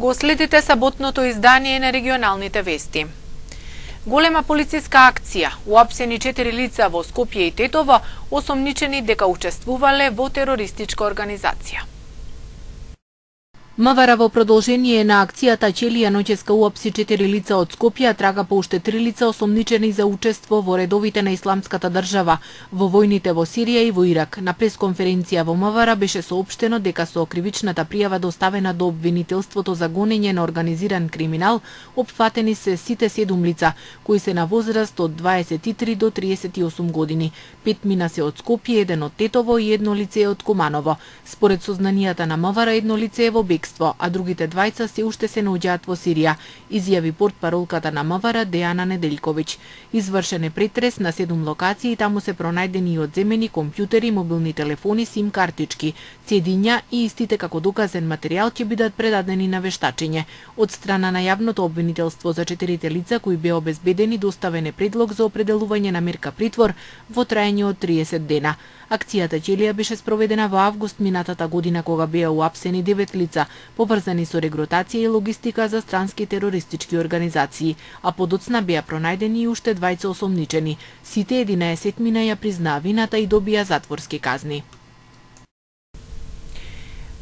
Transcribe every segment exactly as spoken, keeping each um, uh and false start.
Го следите саботното издание на регионалните вести. Голема полициска акција, уапсени четири лица во Скопје и Тетово, осомничени дека учествувале во терористичка организација. МВР во продолжение на акцијата Челија ноќеска уапси четири лица од Скопје, трага по уште три лица осомничени за учество во редовите на Исламската држава, во војните во Сирија и во Ирак. На пресконференција во МВР беше соопштено дека со кривичната пријава доставена до обвинителството за гонење на организиран криминал, опфатени се сите седум лица, кои се на возраст од дваесет и три до триесет и осум години. Пет мина се од Скопје, еден од Тетово и едно лице од Куманово. Според сознанијата на МВР, едно лице е во бегство, а другите двајца се уште се наоѓаат во Сирија, изјави портпаролката на МВР Дејана Неделјковиќ. Извршен е претрес на седум локации и таму се пронајдени и одземени компјутери, мобилни телефони, сим картички, цедиња и истите како доказен материјал ќе бидат предадени на вештачење. Од страна на јавното обвинителство за четирите лица кои беа обезбедени, доставен е предлог за определување на мерка притвор во траење од триесет дена. Акцијата Челија беше спроведена во август минатата година, кога беа уапсени девет лица, поврзани со регрутација и логистика за странски терористички организации, а подоцна беа пронајдени и уште двајца осомничени. Сите единаесет мина ја признаа вината и добија затворски казни.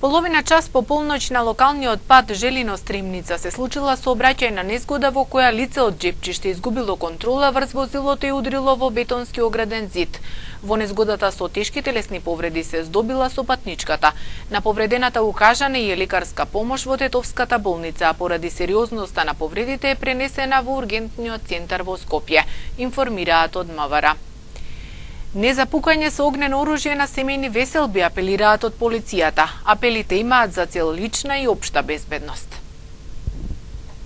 Половина час по полноќ на локалниот пат Желино-Стримница се случила сообраќајна незгода во која лице од Джепчиште изгубило контрола врз возилото и удрило во бетонски ограден зид. Во незгодата со тешки телесни повреди се здобила со патничката. На повредената укажана и лекарска помош во Тетовската болница, а поради сериозноста на повредите е пренесена во ургентниот центар во Скопје, информираат од МВР. Не за пукање со огнено оружје на семејни веселби, апелираат од полицијата. Апелите имаат за цел лична и општа безбедност.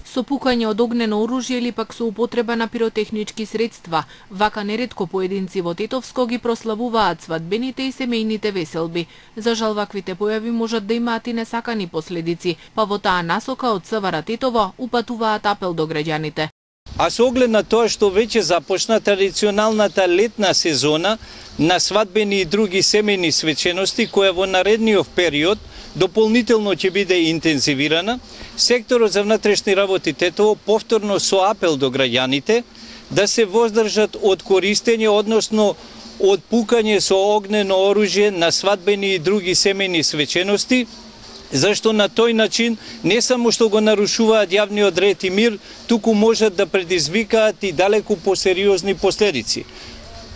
Со пукање од огнено оружје или пак со употреба на пиротехнички средства, вака неретко поединци во Тетовско ги прославуваат свадбените и семејните веселби. За жал, ваквите појави можат да имаат и несакани последици, па во таа насока од СВР Тетово упатуваат апел до граѓаните. А со оглед на тоа што веќе започна традиционалната летна сезона на свадбени и други семејни свечености, која во наредниот период дополнително ќе биде интензивирана, секторот за внатрешни работи Тетово повторно со апел до граѓаните да се воздржат од користење, односно од пукање со огнено оружје на свадбени и други семејни свечености, зашто на тој начин не само што го нарушуваат јавниот ред и мир, туку можат да предизвикаат и далеку посериозни последици.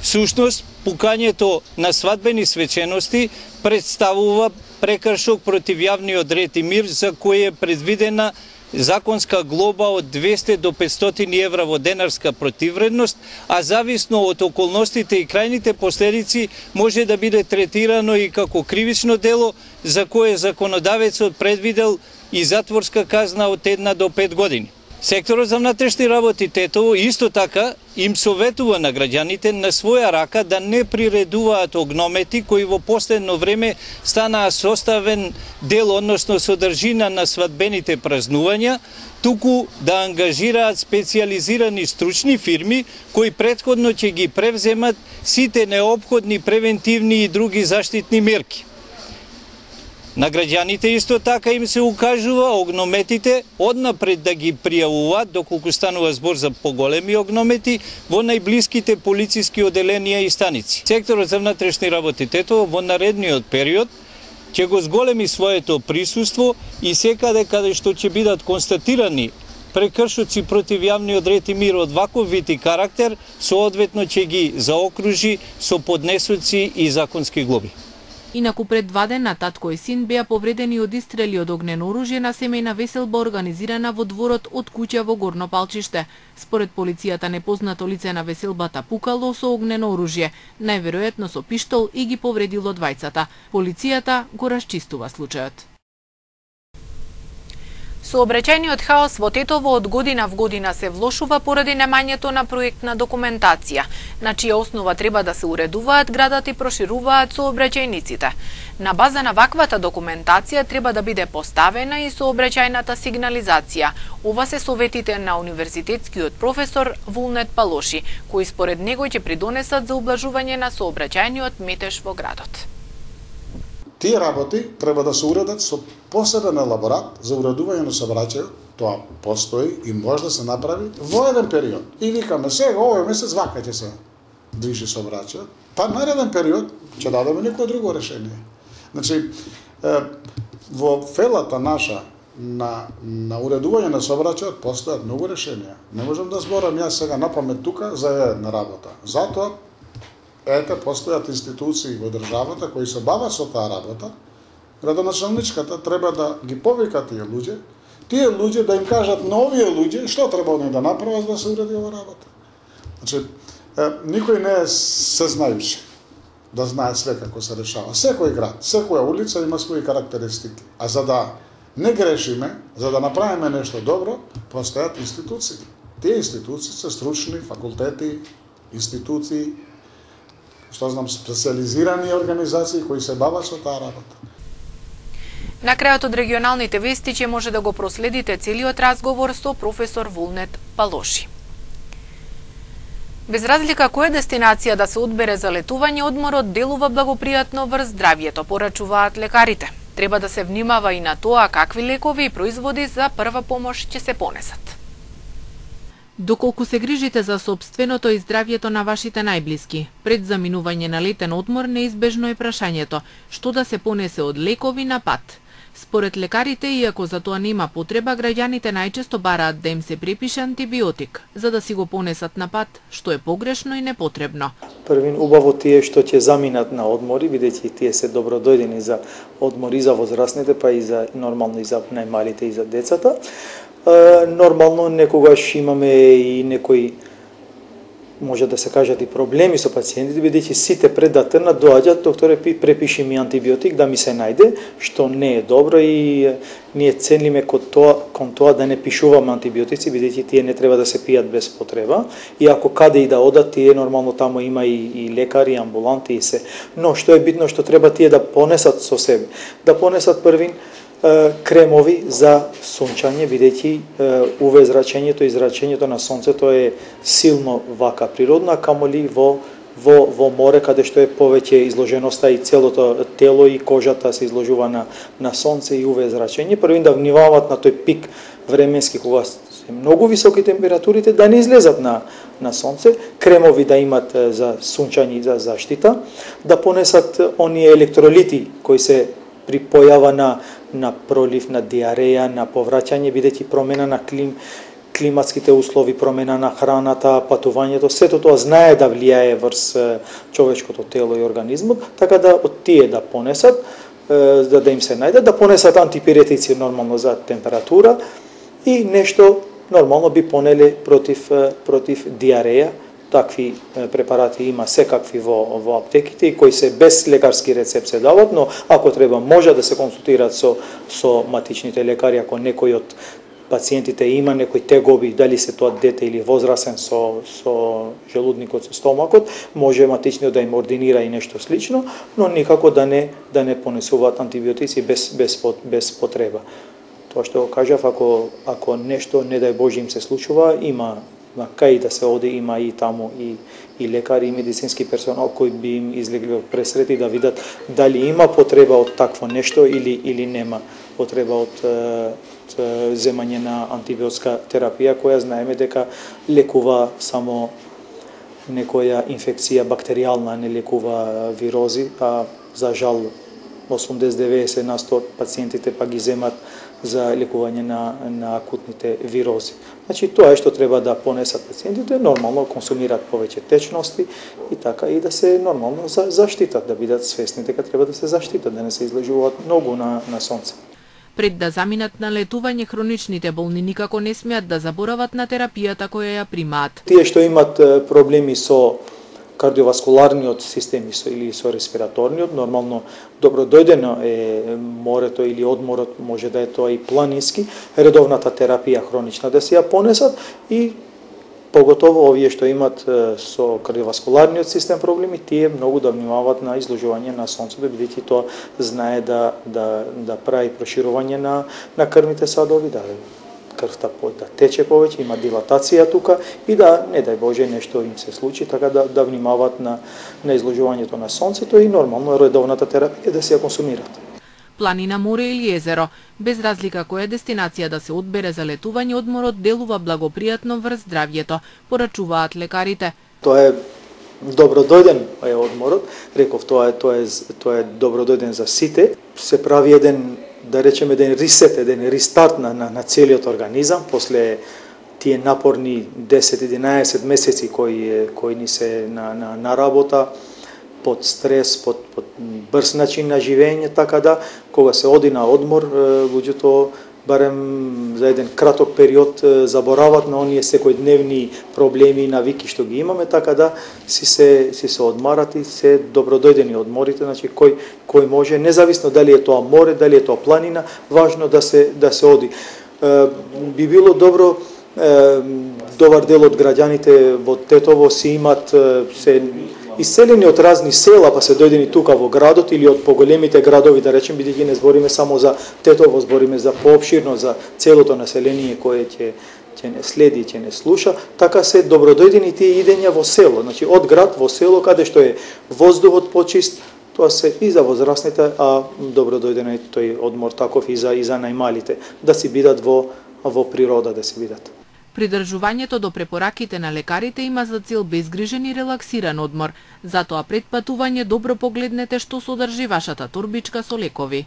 Всушност, пукањето на свадбени свечености представува прекршок против јавниот ред и мир, за кој е предвидена законска глоба од двесте до петстотини евра во денарска противвредност, а зависно од околностите и крајните последици може да биде третирано и како кривично дело, за кое законодавецот предвидел и затворска казна од една до пет години. Секторот за внатрешни работи Тетово исто така им советува на граѓаните на своја рака да не приредуваат огномети кои во последно време станаа составен дел, односно содржина на свадбените празнувања, туку да ангажираат специјализирани стручни фирми кои претходно ќе ги превземат сите неопходни превентивни и други заштитни мерки. На граѓаните исто така им се укажува огнометите однапред да ги пријавуваат, доколку станува збор за поголеми огномети, во најблиските полициски оделенија и станици. Секторот за внатрешни работи Тетово во наредниот период ќе го зголеми своето присуство и секаде каде што ќе бидат констатирани прекршоци против јавниот ред и мир од ваков вид и карактер, соодветно ќе ги заокружи со поднесоци и законски глоби. Инаку пред два дена татко и син беа повредени од истрели од огнено оружје на семејна веселба организирана во дворот од куќа во Горно Палчиште. Според полицијата, непознато лице на веселбата пукало со огнено оружје, најверојатно со пиштол, и ги повредило двајцата. Полицијата го расчистува случајот. Сообраќајниот хаос во Тетово од година в година се влошува поради немањето на проектна документација, на чија основа треба да се уредуваат градот и прошируваат сообраќајниците. На база на ваквата документација треба да биде поставена и сообраќајната сигнализација. Ова се советите на универзитетскиот професор Вулнет Палоши, кои според него ќе придонесат за ублажување на сообраќајниот метеж во градот. Тие работи треба да се уредат со посебен елаборат за уредување на сообраќајот. Тоа постои и може да се направи во еден период. И викаме сега овој месец вака ќе се движи сообраќајот, па нареден период ќе дадеме некој друго решение. Значи, во фелата наша на на уредување на сообраќајот постојат многу решенија. Не можам да зборам јас сега напамет тука за една работа. Затоа ете постојат институции во државата кои се бават со таа работа. Градоначалничката треба да ги повика тие луѓе, тие луѓе да им кажат на овие луѓе што треба они да направат за да се уреди ова работа. Значи, никој не е сезнајуш да знае све како се решава. Секој град, секоја улица има своји карактеристики. А за да не грешиме, за да направиме нешто добро, постојат институции. Тие институции се стручни, факултети, институции, што знам, специализирани организации кои се бават со таа работа. На крајот од регионалните вести ќе може да го проследите целиот разговор со професор Вулнет Палоши. Без разлика која дестинација да се одбере за летување, одморот делува благопријатно врз здравјето, порачуваат лекарите. Треба да се внимава и на тоа какви лекови и производи за прва помош ќе се понесат. Доколку се грижите за сопственото и здравјето на вашите најблиски, пред заминување на летен одмор неизбежно е прашањето што да се понесе од лекови на пат. Според лекарите, иако за тоа нема потреба, граѓаните најчесто бараат да им се препише антибиотик, за да си го понесат на пат, што е погрешно и непотребно. Првин убаво тие што ќе заминат на одмори, бидејќи тие се добродојдени за одмори за возрастните, па и за нормално и за најмалите и за децата. Нормално некогаш имаме и некои, може да се кажат, и проблеми со пациентите, бидејќи сите пред да трнат доаѓаат, докторе, препиши ми антибиотик да ми се најде, што не е добро и ние ценлиме кон тоа, кон тоа да не пишуваме антибиотици, бидејќи тие не треба да се пијат без потреба. И ако каде и да одат, тие нормално таму има и, и лекари, амбуланти и се. Но што е битно, што треба тие да понесат со себе, да понесат првин кремови за сончање, бидејќи УВ зрачењето и зрачењето на сонцето е силно вака природна, камоли во во во море каде што е повеќе изложеноста и целото тело и кожата се изложува на на сонце и УВ зрачење. Првин да внимаваат на тој пик временски кога се многу високи температурите да не излезат на на сонце, кремови да имат за сончање и за заштита, да понесат оние електролити кои се при појава на на пролив, на диареја, на повраќање, бидејќи промена на клим, климатските услови, промена на храната, патувањето, сето тоа знае да влијае врз човечкото тело и организмот, така да од тие да понесат, да, да им се најде, да понесат антипиретици нормално за температура и нешто нормално би понеле против, против диареја. Такви препарати има секакви во, во аптеките и кои се без лекарски рецепт се дават, но ако треба може да се консултираат со, со матичните лекари, ако некој од пациентите има некои тегоби, дали се тоа дете или возрасен со, со желудникот, со стомакот, може матичниот да им ординира и нешто слично, но никако да не, да не понесуваат антибиотици без, без, без потреба. Тоа што го кажав, ако, ако нешто, не дај Боже, им се случува, има на кај да се оди, има и таму и, и лекари и медицински персонал кои би им излегли од пресрет и да видат дали има потреба од такво нешто или или нема потреба од, од земање на антибиотска терапија, која знаеме дека лекува само некоја инфекција бактеријална, не лекува вирози, а за жал осумдесет до деветдесет на сто од пациентите па ги земат за лекување на, на акутните вирози. Значи, тоа е што треба да понесат пациентите, нормално консумираат повеќе течности и така и да се нормално за, заштитат, да бидат свесни дека треба да се заштитат, да не се изложуваат многу на, на сонце. Пред да заминат на летување, хроничните болни никако не смеат да заборават на терапијата која ја примаат. Тие што имат проблеми со кардиоваскуларниот систем или со респираторниот, нормално добродојдено е морето или одморот, може да е тоа и планински, редовната терапија хронична да се ја понесат и поготово овие што имат со кардиоваскуларниот систем проблеми, тие многу да внимаваат на изложување на сонцето, бидејќи тоа знае да да да прави проширување на на крвните садови, да крвта да тече повеќе, има дилатација тука и да, не дај Боже, нешто им се случи, така да, да внимаваат на, на изложувањето на сонцето и нормално редовната терапија да се ја консумираат. Планина, море или езеро, без разлика која дестинација да се одбере за летување, одморот делува благопријатно врз здравјето, порачуваат лекарите. Тоа е добродојден е одморот, реков тоа е тоа е тоа е добродојден за сите. Се прави еден, да речеме, еден ресет, еден рестарт на на, на целиот организам после тие напорни десет-единаесет месеци кои кои ни се на на, на работа, под стрес, под, под брз начин на живење, така да кога се оди на одмор, луѓето барем за еден краток период заборават на оние секојдневни проблеми и навики што ги имаме, така да си се си се одмарат и се добродојдени одморите, значи кој кој може, независно дали е тоа море, дали е тоа планина, важно да се да се оди. Е, би било добро е, добар дел од граѓаните во Тетово си имат се иселени од разни села, па се дојдени тука во градот или од поголемите градови, да речем, бидејќи не збориме само за Тетово, збориме за поопширно, за целото население кое ќе ќе не следи, ќе не слуша, така се добродојдени тие идења во село, значи од град во село, каде што е воздухот почист, тоа се и за возрастните, а добродојден е тој одмор таков и за и за најмалите, да си бидат во во природа, да си бидат. Придржувањето до препораките на лекарите има за цел безгрижен и релаксиран одмор. Затоа пред патување добро погледнете што содржи вашата торбичка со лекови.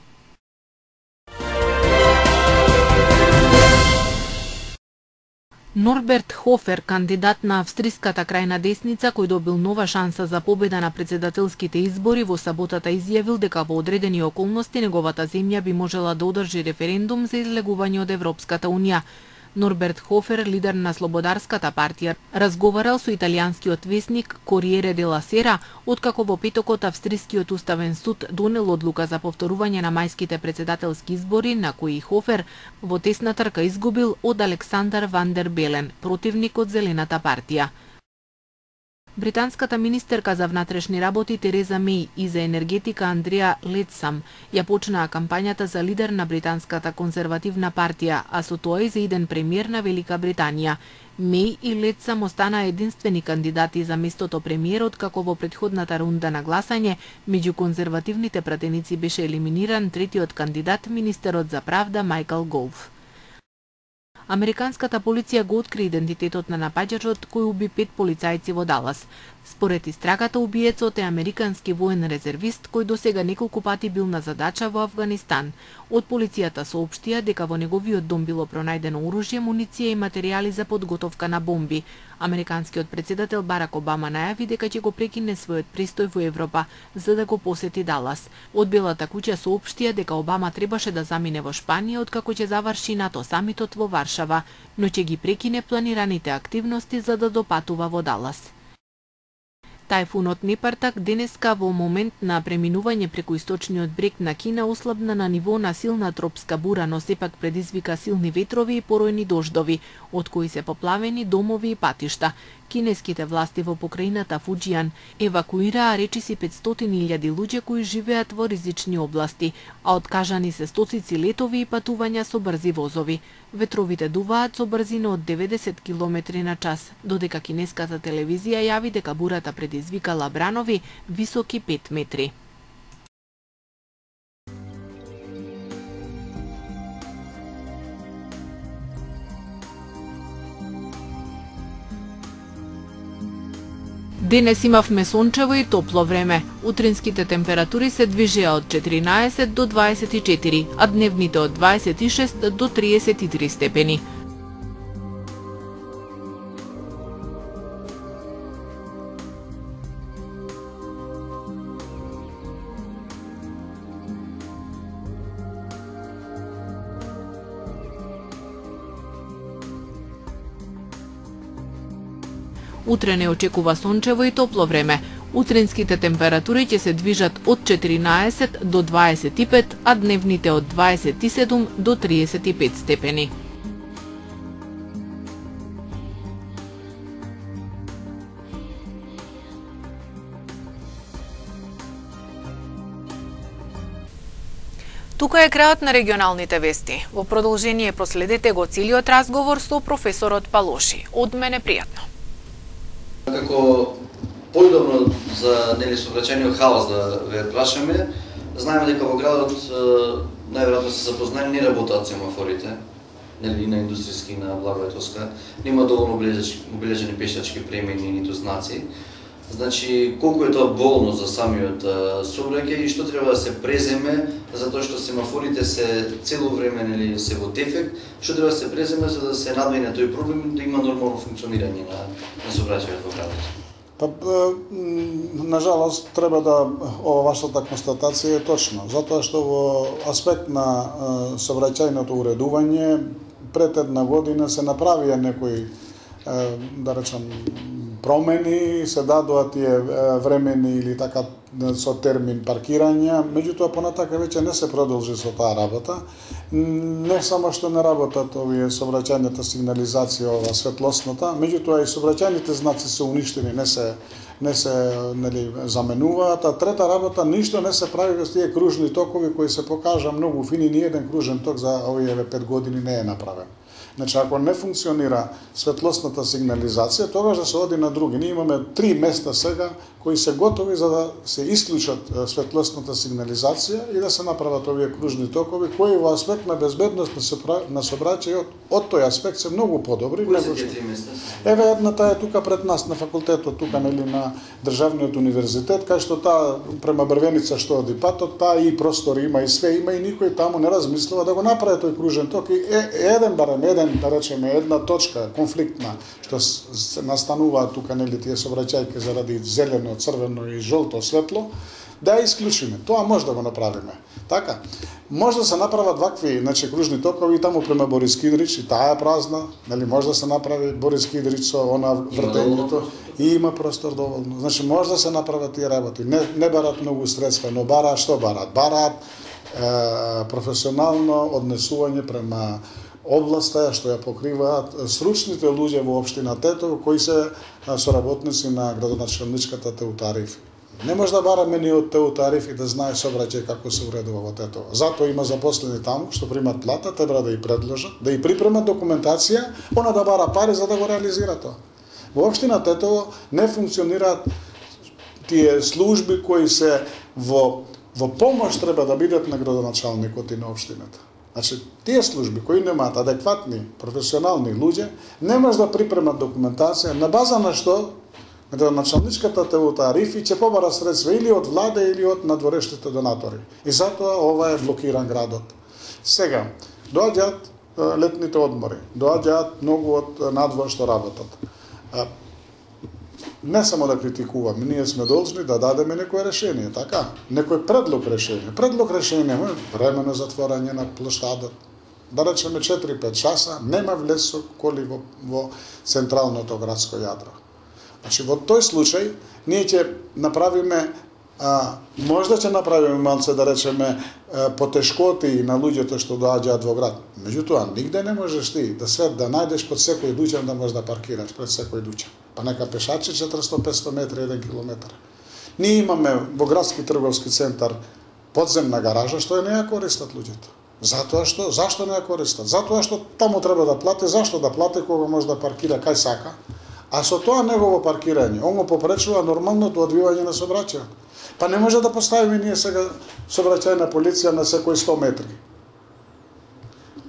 Норберт Хофер, кандидат на австриската крајна десница, кој добил нова шанса за победа на председателските избори, во саботата изјавил дека во одредени околности неговата земја би можела да одржи референдум за излегување од Европската унија. Норберт Хофер, лидер на Слободарската партија, разговарал со италијанскиот весник Кориере де ла Сера, откако во петокот Австрискиот уставен суд донел одлука за повторување на мајските председателски избори, на кои Хофер во тесна трка изгубил од Александар Ван дер Белен, противник од Зелената партија. Британската министерка за внатрешни работи Тереза Меј и за енергетика Андреа Летсам ја почнаа кампањата за лидер на Британската конзервативна партија, а со тоа и за иден премиер на Велика Британија. Меј и Летсам останаа единствени кандидати за местото премиер, откако во претходната рунда на гласање меѓу конзервативните пратеници беше елиминиран третиот кандидат, министерот за правда Мајкл Гов. Американската полиција го откри идентитетот на напаѓачот кој уби пет полицајци во Далас. Според истрагата, убиецот е американски воен резервист кој досега неколку пати бил на задача во Авганистан. Од полицијата соопштија дека во неговиот дом било пронајдено оружје, муниција и материјали за подготовка на бомби. Американскиот претседател Барак Обама најави дека ќе го прекине својот престој во Европа за да го посети Далас. Од Белата куќа соопштија дека Обама требаше да замине во Шпанија откако ќе заврши НАТО самитот во Варшава, но ќе ги прекине планираните активности за да допатува во Далас. Тајфунот Непартак денеска во момент на преминување преку источниот брег на Кина ослабна на ниво на силна тропска бура, но сепак предизвика силни ветрови и поројни дождови, од кои се поплавени домови и патишта. Кинеските власти во покрајината Фуџијан евакуираа речиси петстотини илјади луѓе кои живеат во ризични области, а откажани се стотици летови и патувања со брзи возови. Ветровите дуваат со брзина од деветдесет километри на час, додека кинеската телевизија јави дека бурата предизвикала бранови високи пет метри. Денес имавме сончево и топло време. Утринските температури се движеа од четиринаесет до дваесет и четири, а дневните од дваесет и шест до триесет и три степени. Утре не очекува сончево и топло време. Утринските температури ќе се движат од четиринаесет до дваесет и пет, а дневните од дваесет и седум до триесет и пет степени. Тука е крајот на регионалните вести. Во продолжение проследете го целиот разговор со професорот Палоши. Од мене пријатно. Како појдобно за нели сообраќајниот хаос да ве прашаме, знаеме дека во градот најверојатно се запознаени не работат семафорите, нели на индустријски и на Благоевска, нема доволно обележени пешачки премини ниту знаци. Значи, колку е тоа болно за самиот сообраќај и што треба да се преземе, затоа што семафорите се цело време нели се во дефект, што треба да се преземе за да се надвине тој проблем да има нормално функционирање на, на сообраќајот во градот. Па, на жалост, треба да ова вашата констатација е точна, затоа што во аспект на сообраќајното уредување пред една година се направија некои, да речам, промени, се дадоа тие времени или така со термин паркирања, меѓутоа понатака веќе не се продолжи со таа работа. Не само што не работат овие сообраќајната сигнализација, ова светлосната, меѓутоа и сообраќајните знаци се уништени, не се не се нели заменуваат, а трета работа ништо не се прави без тие кружни токови кои се покажа многу фини, ни еден кружен ток за овие пет години не е направен. Значи, ако не функционира светлосната сигнализација, тогаш да се оди на други. Ние имаме три места сега кои се готови за да се исклучат светлосната сигнализација и да се направат овие кружни токови, кои во аспект на безбедност на сообраќајот од тој аспект се многу подобри. Кои се тие три места? Еве едната е тука пред нас на факултетот, тука нели на Државниот универзитет, кај што таа према Брвеница што оди патот, таа и простори има и све има и никој таму не размислува да го направи тој кружен ток и е, еден барем еден да речеме една точка конфликтна што се настануваат тука нели тие сообраќајки заради зелено, црвено и жолто светло, да ја исклучиме. Тоа може да го направиме. Така, може да се направат вакви, значи кружни токови таму према Борис Кидрич и таа е празна, нели може да се направи Борис Кидрич со она вртењето и има простор доволно. Значи може да се направат тие работи. Не не бараат многу средства, но бараат што бараат? Бараат е, професионално однесување према областа што ја покриваат стручните луѓе во општина Тетово кои се соработници на градоначалничката Теутариф. Не може да бараме ни од Теутариф и да знае сообраќај како се уредува во Тетово. Затоа има запослени таму што примат плата, треба да ја предложат, да ја припремат документација, она да бара пари за да го реализира тоа. Во општина Тетово не функционираат тие служби кои се во во помош треба да бидат на градоначалникот и на општината. Значи, тие служби кои немаат адекватни професионални луѓе, не може да припремат документација на база на што градоначалничката Теутариф ќе побара средства или од влада или од надворешните донатори. И затоа ова е блокиран градот. Сега, доаѓаат летните одмори, доаѓаат многу од надвор што работат. Не само да критикуваме, ние сме должни да дадеме некое решение, така? Некој предлог решение. Предлог решение, времено затворање на плоштадот. Да речеме четири-пет часа, нема влез со коли во, во централното градско јадро. Значи, во тој случај, ние ќе направиме, а, можда ќе направиме малце, да речеме, потешкоти на луѓето што доаѓаат во град. Меѓутоа, нигде не можеш ти да свет да најдеш под секој дуќан да можеш да паркираш пред секој дуќан. Па нека пешачи четиристо-петсто метри, еден километар. Ние имаме во градски трговски центар подземна гаража што не ја користат луѓето. Затоа што, зашто не ја користат? Затоа што таму треба да плати, зашто да плати кога може да паркира кај сака? А со тоа негово паркирање, он го попречува нормалното одвивање на сообраќајот. Па не може да поставиме ние сега сообраќајна полиција на секој сто метри.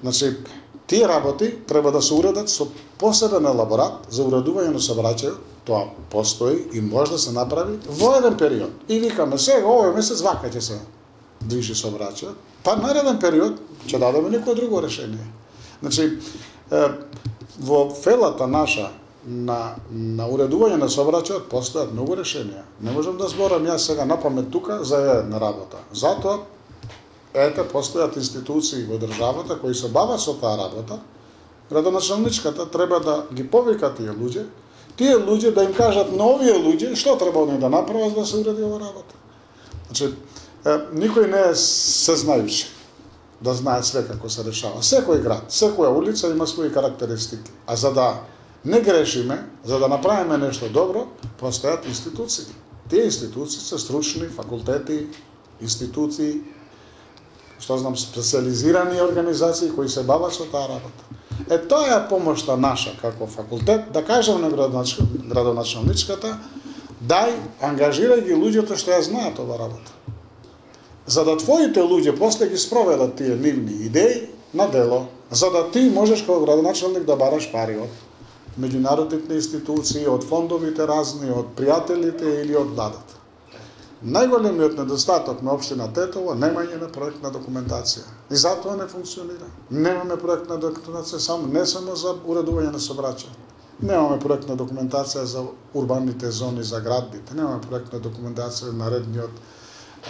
Значи, тие работи треба да се уредат со посебен елаборат за уредување на сообраќајот, тоа постои и може да се направи во еден период. И викаме сега овој месец вака ќе се движи сообраќајот, па нареден период ќе дадеме некое друго решение. Значи, во фелата наша на на уредување на сообраќајот постојат многу решенија. Не можам да зборам јас сега напамет тука за една работа. Затоа ете постојат институции во државата кои се бават со таа работа. Градоначалничката треба да ги повика тие луѓе, тие луѓе да им кажат на овие луѓе што треба они да направат за да се уреди ова работа. Значи, е, никој не е сезнајуч да знае све како се решава. Секој град, секоја улица има своји карактеристики. А за да не грешиме, за да направиме нешто добро, постојат институции. Тие институции се стручни, факултети, институции, што знам, специализирани организации кои се бават со таа работа. Е, тоа е помошта наша како факултет, да кажем на градоначалничката, дај, ангажирај ги луѓето што ја знаат ова работа. За да твоите луѓе после ги спроведат тие нивни идеи на дело, за да ти можеш како градоначалник да бараш пари од меѓународните институции, од фондовите разни, од пријателите или од владата. Најголемиот недостаток на општина Тетово немање на проектна документација. И затоа не функционира. Немаме проектна документација само не само за уредување на сообраќај. Немаме проектна документација за урбаните зони, за градбите. Немаме проектна документација на редниот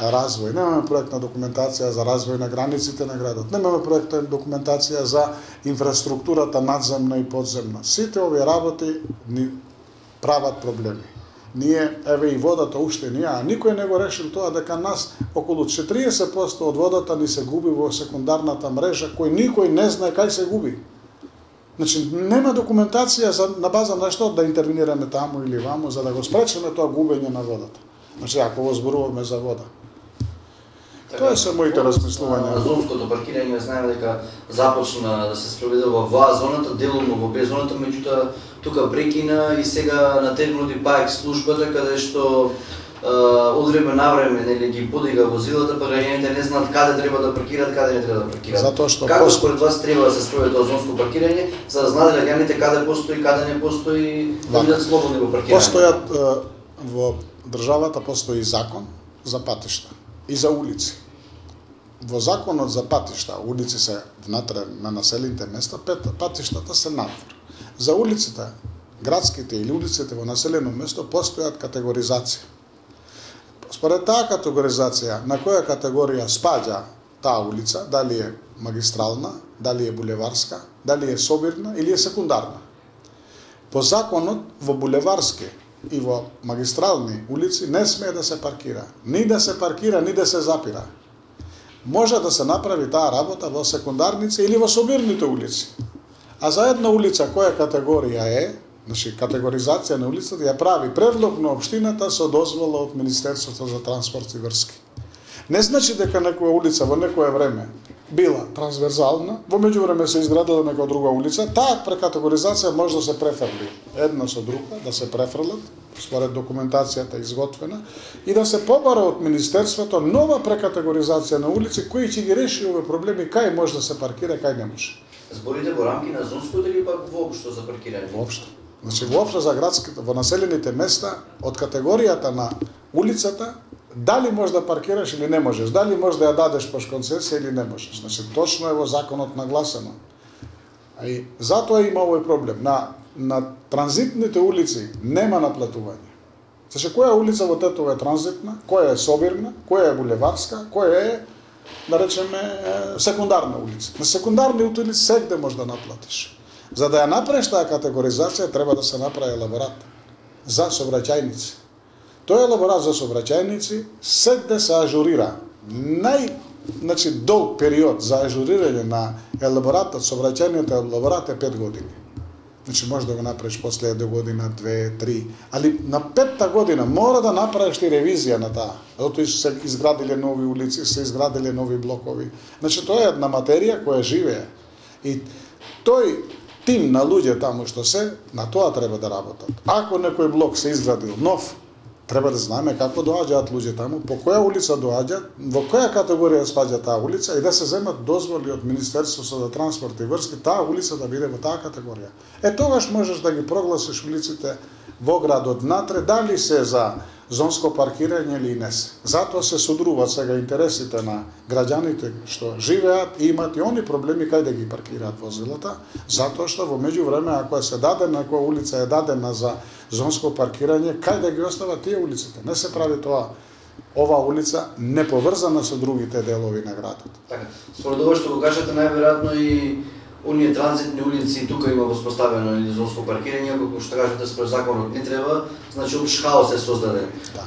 развој. Немаме проектна документација за развој на границите на градот. Немаме проектна документација за инфраструктурата надземна и подземна. Сите овие работи ни прават проблеми. Ние, еве и водата уште ние, а никој не го решил тоа дека нас околу четириесет проценти од водата ни се губи во секундарната мрежа, кој никој не знае кај се губи. Значи, нема документација за, на база на што да интервенираме таму или ваму, за да го спречиме тоа губење на водата. Значи, ако го зборуваме за вода. Тоа се моите размислувања. Зонското паркирање, знаеме дека започна да се спроведе во ВА зоната, делумно во Б зоната, меѓутоа тука прекина и сега на терминот ПАЕК службата, каде што од време на време нели ги подига возилата, па граѓаните не знаат каде треба да паркираат, каде не треба да паркираат. Затоа што како пост... според вас треба да се спроведе тоа зонско паркирање, за да знаат граѓаните каде постои, каде не постои, да бидат слободни во паркирање? Постојат во државата постои закон за патишта и за улици. Во законот за патишта, улици се внатре на населените места, патиштата се надвор. За улиците, градските или улиците во населено место постојат категоризација. Според таа категоризација, на која категорија спаѓа таа улица, дали е магистрална, дали е булеварска, дали е собирна или е секундарна. По законот во булеварски и во магистрални улици не смее да се паркира. Ни да се паркира, ни да се запира. Може да се направи таа работа во секундарници или во собирните улици. А за една улица која категорија е, значи категоризација на улицата ја прави предлог на општината со дозвола од Министерството за транспорт и врски. Не значи дека некоја улица во некое време била трансверзална, во меѓувреме се изградила некоја друга улица, таа прекатегоризација може да се префрли една со друга, да се префрлат според документацијата изготвена и да се побара од Министерството нова прекатегоризација на улици кои ќе ги реши овие проблеми, кај може да се паркира, кај не може. Зборите во рамки на зонското или пак воопшто за паркирање? Воопшто. Значи воопшто за градските, во населените места, од категоријата на улицата, дали можеш да паркираш или не можеш, дали можеш да ја дадеш пош концесија или не можеш. Значи точно е во законот нагласено. А и затоа има овој проблем. На на транзитните улици нема наплатување. Значи која улица во Тетово е транзитна, која е собирна, која е булеварска, која е, да речеме, секундарна улица. На секундарни улици сегде можеш да наплатиш. За да ја направиш таа категоризација треба да се направи елаборат за сообраќајници. Тој елаборат за сообраќајници сегде се ажурира. Нај значи долг период за ажурирање на елаборатот, сообраќајниот елаборат е пет години. Значи може да го направиш после една година, две, три, али на петта година мора да направиш и ревизија на таа. Затоа се изградиле нови улици, се изградиле нови блокови. Значи тоа е една материја која живее. И тој тим на луѓе таму што се, на тоа треба да работат. Ако некој блок се изградил нов, треба да знаеме како доаѓаат луѓе таму, по која улица доаѓаат, во која категорија спаѓа таа улица и да се земат дозволи од Министерството за транспорт и врски таа улица да биде во таа категорија. Е тогаш можеш да ги прогласиш улиците во градот внатре, дали се за зонско паркирање или не се. Затоа се содруваат сега интересите на граѓаните што живеат и имат и они проблеми кај да ги паркираат возилата, затоа што во меѓувреме ако се даде некоја улица е дадена за зонско паркирање, кај да ги остават тие улиците? Не се прави тоа. Ова улица не поврзана со другите делови на градот. Така, според ова што го кажете, најверојатно и оние транзитни улици тука има воспоставено или зонско паркирање, како што кажете според законот не треба, значи опш хаос е создаден. Да.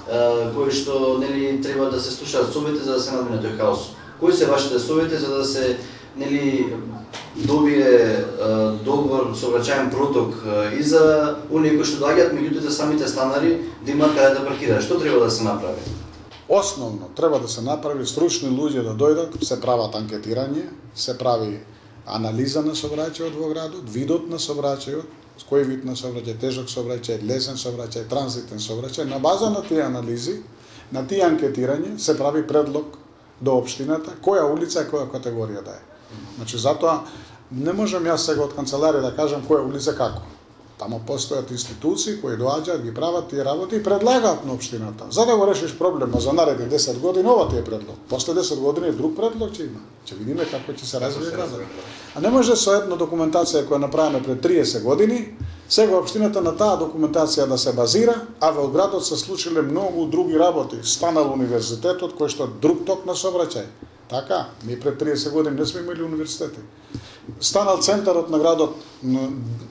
Кој што нели треба да се слушаат совети за да се надмине тој хаос. Кои се вашите совети за да се нели добие договор сообраќајен проток и за оние кои што доаѓаат, меѓутоа за самите станари да имаат каде да паркираат? Што треба да се направи? Основно треба да се направи стручни луѓе да дојдат, се прават анкетирање, се прави анализа на сообраќајот во градот, видот на сообраќајот, кој вид на сообраќај, тежок сообраќај, лесен сообраќај, транзитен сообраќај. На база на тие анализи, на тие анкетирање се прави предлог до општината која улица и која категорија да е. Значи затоа не можам јас сега од канцеларија да кажам која улица како. Тамо постојат институции кои доаѓаат, ги прават тие работи и предлагаат на општината. За да го решиш проблема за наредни десет години, ова ти е предлог. После десет години друг предлог ќе има. Ќе видиме како ќе се развие градот. А не може со една документација која направена пред триесет години, сега општината на таа документација да се базира, а во градот се случиле многу други работи. Станал универзитетот кој што друг ток на сообраќај. Така, ние пред триесет години не сме имали универзитети. Станал центарот на градот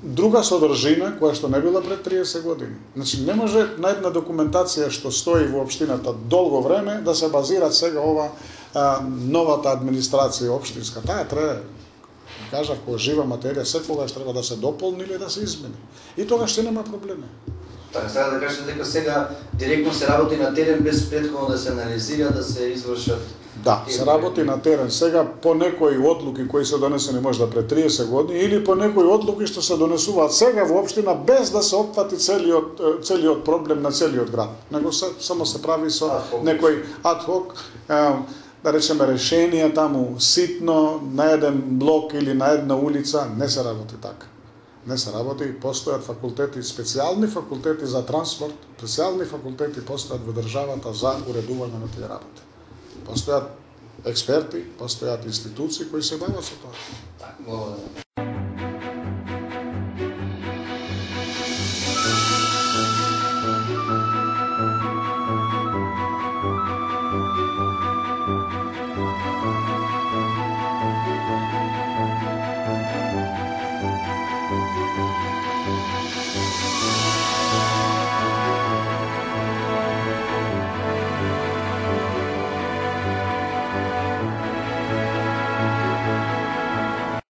друга содржина која што не била пред триесет години. Значи не може на една документација што стои во општината долго време да се базира сега ова а, новата администрација општинска. Таа треба, кажав, која жива материја секогаш треба да се дополни или да се измени. И тогаш ќе нема проблеми. Така, сега да кажете дека сега директно се работи на терен без претходно да се анализира, да се извршат. Да, се работи на терен сега по некои одлуки кои се донесени можда пред триесет години или по некои одлуки што се донесуваат сега во општина без да се опфати целиот целиот проблем на целиот град. Него се, само се прави со некој адхок, да речеме решение таму ситно на еден блок или на една улица, не се работи така. Не се работи, постојат факултети, специјални факултети за транспорт, специјални факултети постојат во државата за уредување на тие работи. Постојат експерти, постојат институции кои се бават со тоа. Так,